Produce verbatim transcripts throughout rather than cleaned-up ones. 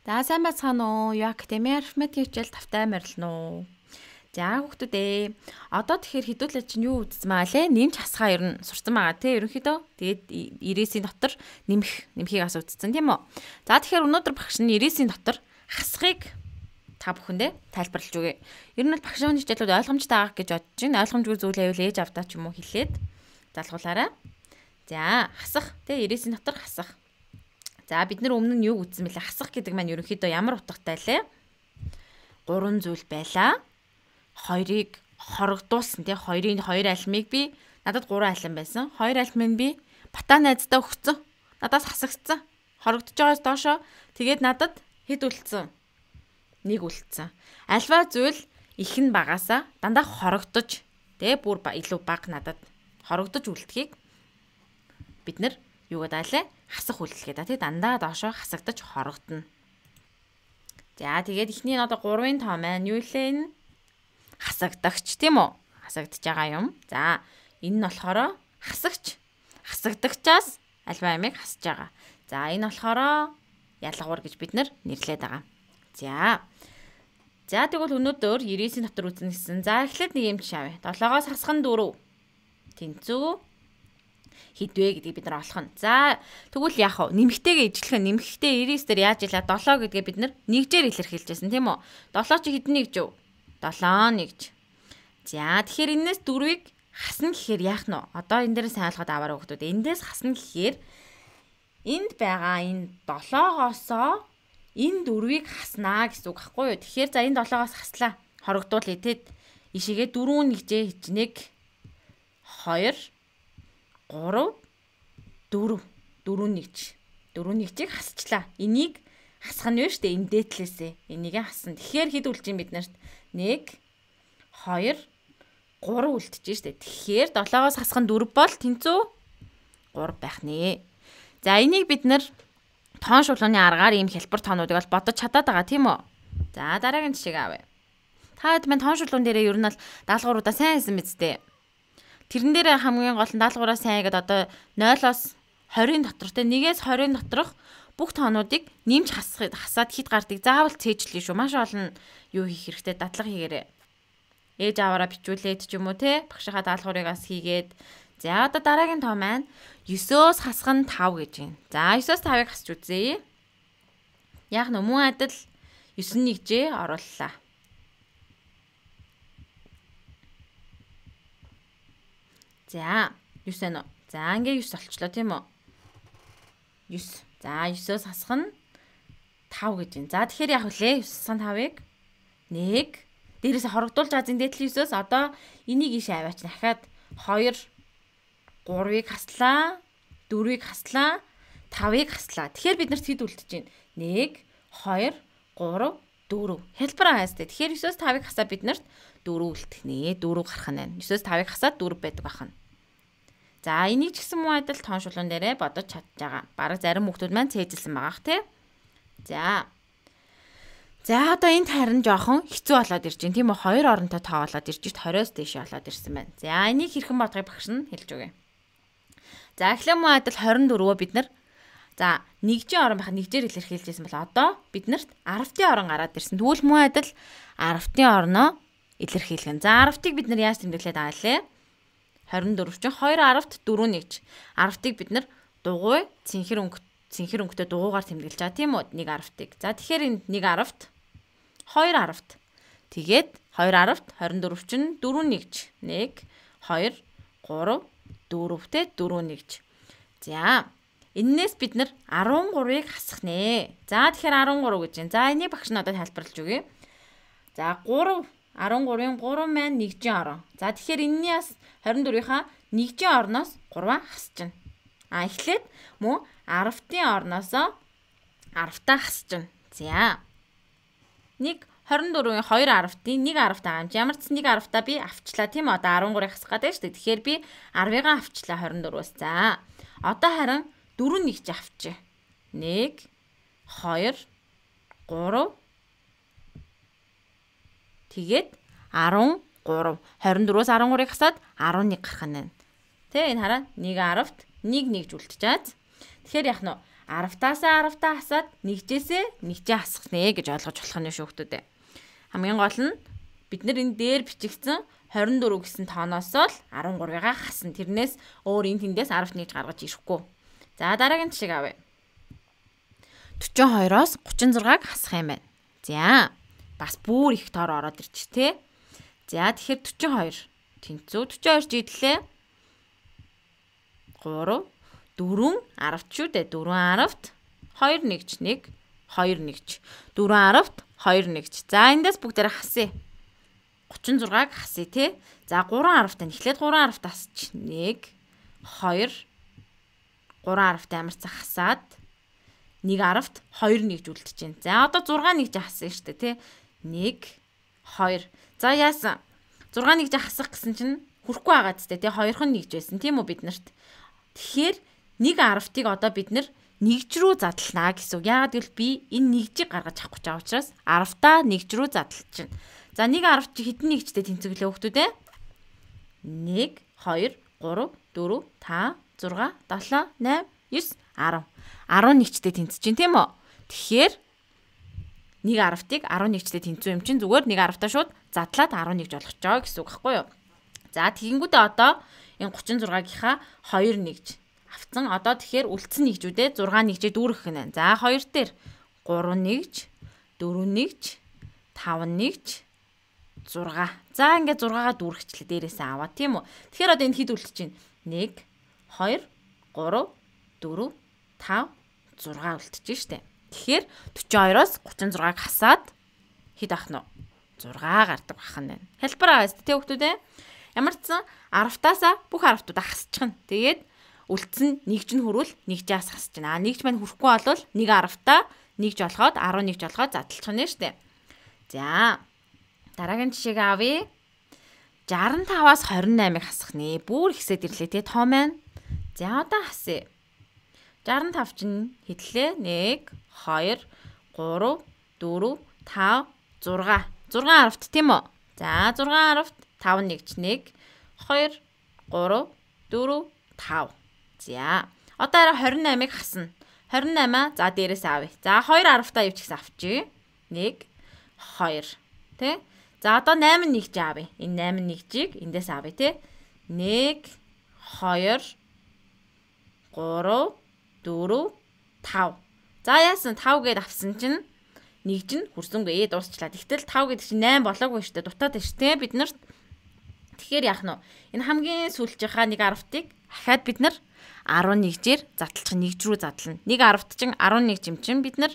За сайн байцгаана уу? Юу академи арифметик хичээл тавтай морилно уу? За хүүхдүүд ээ. Одоо тэгэхээр хэдүүлээ чинь юу үзсэн маа лээ? Нэмж хасгаа ер нь сурсан байгаа тий ерөнхийдөө. Тэгээд ирээсийн дотор нэмэх нэмхийг асуу үзсэн тийм үү? За тэгэхээр өнөөдөр багш нь ирээсийн дотор хасгыг та бүхэндээ тайлбарлаж өгье. Ер нь бол багшийн хичээлүүд ойлгомжтой байгаа гэж бодож байна. Ойлгомжгүй зүйл байвал ээж авдаа ч юм уу хэлээд залгуулаарай. За хасах тий ирээсийн дотор хасах. За бид нар өмнө нь юу үзсэн бэлээ? Хасах гэдэг маань ерөнхийдөө ямар утгатай лээ? Гурван зүйл байлаа. Хоёрыг хорогдуулсан тий хоёрын хоёр альмыг би надад гурван альм байсан. Хоёр альмыг би бата найздаа өгцөн. Надаас хасагдсан. Хорогдож байгаас доошоо тэгээд надад хэд үлдсэн? Нэг үлдсэн. Альва зүйл их нь багасаа дандаа хорогдож тий бүр илүү бага надад хорогдож үлдэхийг бид нар юу гэдэг вэ? Хасах үйлдэл гэдэг. Тэг дандаа доошоо хасагдаж хорогдно. За тэгээд эхний нь одоо гурвын тоо маань юу лээ энэ? Хасагдагч тийм үү? Хасагдж байгаа юм. За энэ нь болохоор хасагч. Хасагдагчаас альва амиг хасж байгаа. За энэ болохоор ялгуур гэж бид нар нэрлээд байгаа. За. За тэгвэл өнөөдөр ирээсийн дотор үзнэ гэсэн. За эхлээд нэг юм жишээ авъя. долоогоос хасах нь дөрөв. Тэнцүү хідвэ гэдгийг бид нар олох нь. За тэгвэл яах вэ? Нэмэгтэйгээ ижилхэн нэмэгтэй ирээс дээр яаж илаа долоо гэдгээ бид нар нэгжээр илэрхийлжсэн тийм үү? долоо чи хэдэн нэгж вэ? долоо нэгж. За тэгэхээр энэс дөрвийг хасна гэхээр яах нь вэ? Одоо энэ дээр сайн ойлгоод аваарай хүүхдүүд. Эндээс хасна гэхээр энд байгаа энэ долоогоосоо энэ дөрвийг хаснаа гэсэн үг байхгүй юу? Тэгэхээр за энэ долоогоос хаслаа. Хорогдуулъя тэд. Ишигээ дөрөв нэгжээ хичнээг хоёр гурав дөрөв дөрөв нэгж дөрөв нэгжийг хасчлаа. Энийг хасах нь вэ штэ энэ дээдлээсээ. Энийг хасна. Тэгэхээр хэд үлдэж юм биднэрт? нэг хоёр гурав үлдэж штэ. Тэгэхээр долоогоос хасах нь дөрөв бол тэнцүү гурав байх нэ. За энийг бид нар тоон шулууны аргаар ийм хялбар тоонуудыг бол бодож чадаад байгаа тийм үү? За дараагийн жишээг авъя. Та хэд мэн тоон шулуун дээрээ ер нь бол даалгавруудаа сайн хийсэн биз дээ. Тэрэн дээр хамгийн гол нь даалгавраа сайн хийгээд одоо нойлоос хорийн дотор те нэгээс хорийн доторх бүх тоонуудыг нэмж хасахыг хасаад хит гардыг заавал цээжлээ шүү. Маш олон юу хийх хэрэгтэй дадлага хийгээрэй. Ээж аваараа бичүүлээд ч юм уу те багшийнхаа даалгаврыг бас хийгээд. За одоо дараагийн тоо маань дев'өөс хасах нь тав гэж байна. За дев'өөс тавыг хасч үзье. Яг нь мөн адил дев'ес нэгжээ орууллаа. За дев'ес ээ. За ингээ дев'ес олчлоо тийм үү? дев'ес. За дев'өөс хасах нь тав гэж байна. За тэгэхээр яах вүлээ? дев'ес хасах тавыг нэг дээрээс хорогдуулж байгаа зэн дээдлийн дев'өөс одоо энийг ийшээ аваач. Дахиад хоёр гурвыг хаслаа, дөрвийг хаслаа, тавыг хаслаа. Тэгэхээр бид нарт хэд үлдэж байна? нэг хоёр гурав дөрөв. Хэлбэр хаастай. Тэгэхээр дев'өөс тавыг хасаа бид нарт дөрөв үлдэх нэ. дөрөв гарах нь байна. дев'өөс тавыг хасаад дөрөв байдаг байна. За энийг ч гэсэн муу адил тоон шулуун дээрээ бодож чадж байгаа. Бараг зарим хүүхдүүд маань цээжилсэн байгаах тий. За. За одоо энд харин жоохон хэцүү болоод ирж байна. Тийм үү? Хоёр оронтой тоо болоод ирж шít двадцоос дээшээ болоод ирсэн байна. За энийг хэрхэн бодохыг багш нь хэлж өгье. За эхлээ муу адил двадцать дөрвөө бид нар за нэгжийн орон байхад нэгжээр илэрхийлжсэн бол одоо биднэрт арвтын орон гараад ирсэн. Тэгвэл муу адил арвтын орноо илэрхийлгэн. За арвтыг бид нар яаж тэмдэглээд байгаа лээ? двадцать дөрв чинь хоёр арвт дөрөв нэгж. Арвтыг бид нар дугуй цэнхэр өнгө цэнхэр өнгөтэй дугуйгаар тэмдэглэж байгаа тийм үү? нэг арвтыг. За тэгэхээр энд нэг арвт хоёр арвт. Тэгээд хоёр арвт двадцать дөрв чинь дөрөв нэгж. нэг хоёр гурав дөрөв тэ дөрөв нэгж. За эннээс бид нар арван гурвыг хасах нэ. За тэгэхээр арван гурав гэж байна. За энийг багш надад тайлбарлаж өгье. За гурав арван гурвын гурав маань нэгжийн орон. За тэгэхээр энэний бас двадцать дөрвийнхаа нэгжийн орноос гурваа хасчихна. А эхлээд мөн арвтын орноосоо арвтаа хасчихна. За. Нэг двадцать дөрвийн хоёр арвтын нэг арвт байгаа юм. Ямар ч нэг арвтаа би авчлаа тийм үү? Одоо арван гурвыг хасах гэдэг шүү дээ. Тэгэхээр би арвыгаа авчлаа двадцать дөрвөөс. За. Одоо харин дөрөв нэгж авчи. нэг хоёр гурав тэгээд арван гурав. двадцать дөрвөөс арван гурвыг хасаад арван нэг гарах нь байна. Тэ энэ хараа нэг арвт нэг нэгж үлдчихэж. Тэгэхээр яах нь вэ? аравтаасаа аравтаа хасаад нэгжээсээ нэгжээ хасахнэ гэж ойлгож болох нь шүүхтүүдээ. Хамгийн гол нь бид нар энэ дээр бичигдсэн хорин дөрөв гэсэн тооноос л арван гурвыгаа хасна. Тэрнээс өөр энэ тэндээс аравт нэгж гаргаж ирэхгүй. За дараагийн жишээг авъя. дөрвөн хоёроос гучин зургааг хасах юм байна. За бас бүр их тоор ороод ирч тээ. За тэгэхээр дөрвөн хоёр тэнцүү дөрвөн хоёр жидлээ. гурав дөрвөн аравт шүү дээ. дөрвөн аравт хоёр нэгж нэг хоёр нэгж дөрвөн аравт хоёр нэгж. За эндээс бүгдээр хасъя. гучин зургааг хасъя тий. За гурван аравтаа эхлээд гурван аравт хасч нэг хоёр гурван аравт амарцаа хасаад нэг аравт хоёр нэгж үлдэж байна. За одоо зургаан нэгж хасъя шүү дээ тий. нэг хоёр. За яасан? зургаан нэгж хасах гэсэн чинь хүрхгүй байгаа зү тий. хоёрхан нэгж байсан тийм үү бид нарт. Тэгэхээр нэг аравтыг одоо бид нар нэгж рүү задлана гэсэн үг. Яагаад гэвэл би энэ нэгжийг гаргаж авахгүй байгаа учраас аравтаа нэгж рүү задлж чинь. За нэг аравт чи хэдэн нэгжтэй тэнцвэрлээ хүүхдүүд ээ? нэг, хоёр, гурав, дөрөв, тавь, зурга, долоо, найм, десять, арав. арван нэгжтэй тэнцэж чинь тийм үү? Тэгэхээр нэг аравтыг арван нэгжтэй тэнцүү юм чинь зүгээр нэг аравтаа шууд задлаад арван нэгж болгож байгаа гэсэн үг байхгүй юу? За тэгэнгүүтээ одоо энэ гучин зургаагийнхаа хоёр нэгж авцсан. Одоо тэгэхээр үлдсэн нэгжүүдээ зургаан нэгжээ дүүргэх гэнэ. За хоёр дээр гурав нэгж, дөрөв нэгж, таван нэгж, зурга. За ингээд зургаагаа дүүргэчлээ дээрээсээ аваа тийм үү? Тэгэхээр одоо энэ хэд үлдэж байна? нэг, хоёр, гурав, дөрөв, тавь, зурга үлдчихэж штэ. Тэгэхээр дөрвөн хоёроос гучин зургааг хасаад хэд авах нь вэ? зурга гардаг бах нь байна. Хэлбэр байгаа зү тэ хүүхдүүд ээ. Ямар ч сан аравтаасаа бүх аравтуудаа хасчихна. Тэгээд үлдсэн нэгж нь хүрвэл нэгжээс хасч байна. А нэгж маань хүрэхгүй болвол нэг аравтаа нэгж олгоод арван нэгж олгоод задлчих нь штэ. За дараагийн жишээг авъя. шестдесят и пять-аас двадцать восемь-ыг хасах нэ. Бүр ихсээд ирлээ те том байна. За одоо хасъя. шестьдесят и пять чинь хэдлээ? нэг, хоёр, гурав, дөрөв, тавь, зурга. зургаан аравт тийм үү? За зургаан аравт таван нэгж нэг, хоёр, гурав, дөрөв, тавь. За одоо арай двадцать восемь-ыг хасна. двадцать восемь-аа за дээрээс авъя. За хоёр аравтаа юу ч гэсэн авчи. нэг, хоёр. Тэ? За одоо восемь нэгж авъя. Энэ восемь нэгжийг эндээс авъя те. нэг, хоёр, гурав, дөрөв, тавь. За яасан тавь гээд авсан чинь нэгж нь хүрсэнгүй дуусчлаа. Тэгтэл тавь гэдэг чинь восемь болоогүй шүү дээ. Дутаад байна шүү дээ бид нарт. Тэгэхээр яах нь вэ? Энэ хамгийн сүүлчийнхаа нэг аравтыг ахаад бид нар арван нэгжээр задлчих нэгж рүү задлана. Нэг аравт чинь арван нэг юм чинь бид нар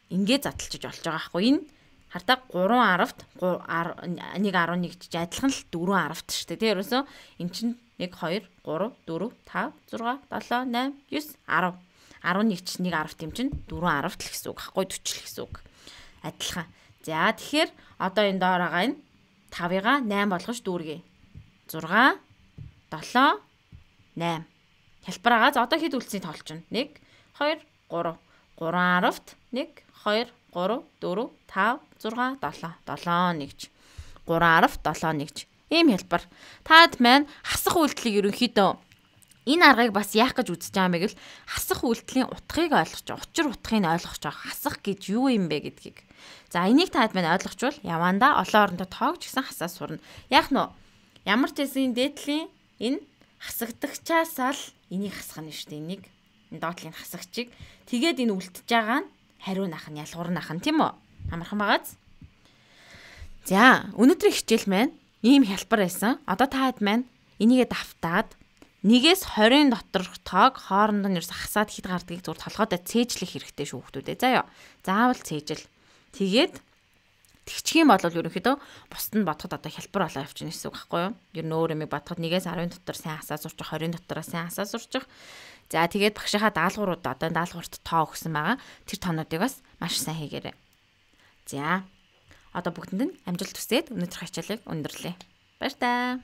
ингээд задлчиж болж байгаа байхгүй. Энэ хартаа гурван аравт нэг арван нэгж адилхан л дөрвөн аравт шүү дээ. Тэ ерөөсөө эн чинь нэг, хоёр, гурав, дөрөв, тавь, зурга, долоо, найм, десять, арав. арван нэг ч нэг аравт юм чинь дөрвөн аравт л гэсэн үг. Хахгүй төчл гэсэн үг. Адилхан. За тэгэхээр одоо энэ доор байгаа энэ тавыгаа восемь болгож дүүргэе. зурга, долоо, восемь. Хэлбэр байгаа. За одоо хэд үлдсэний тоолч нь? нэг, хоёр, гурав. гурван аравт нэг, хоёр, гурав, дөрөв, тавь, зурга, долоо. долоо нэгж. гурван аравт, долоо нэгж. Ийм хэлбэр. Таад маань хасах үйлдэлийг ерөнхийдөө энэ аргыг бас яах гэж үзэж байгаа юм бэ гэвэл хасах үйлдэлийн утгыг ойлгож, учир утгыг ойлгож байгаа. Хасах гэж юу юм бэ гэдгийг. За энийг таад маань ойлгочвол явандаа олон орондоо тоогч гэсэн хасаа сурна. Яах нь вэ? Ямар ч хэсгийн дээдлийн энэ хасагдагчаас л энийг хасах нь шүү дээ. Энийг энэ доотлын хасагчийг тэгээд энэ үлдчихэж байгаа нь хариу нах нь ялгуур нах нь тийм үү? Амархан байгааз. За өнөөдрийн хичээл маань ийм хэлбэр байсан. Одоо таад маань энийгээ давтаад нэгээс двадцать дотор тоог хоорондоо нь ерөөс хасаад хэд гардгийг зур толгойдоо цээжлэх хэрэгтэй шүү хүмүүдээ. За ёо. Заавал цээжл. Тэгээд тэгчих юм бол ерөнхийдөө бусд нь бодоход одоо хэлбэр болоо явчихна гэсэн үг байхгүй юу? Ер нь өөр юм бодоход нэгээс десять дотор сайн хасаа сурчих, двадцать дотор сайн хасаа сурчих. За тэгээд багшийнхаа даалгаврууд одоо даалгаварт тоо өгсөн байгаа. Тэр тоонуудыг бас маш сайн хийгээрэй. За одоо бүгдэнд нь амжилт хүсээд өнөөдрийн хичээлийг өндөрлөе. Баяр таа.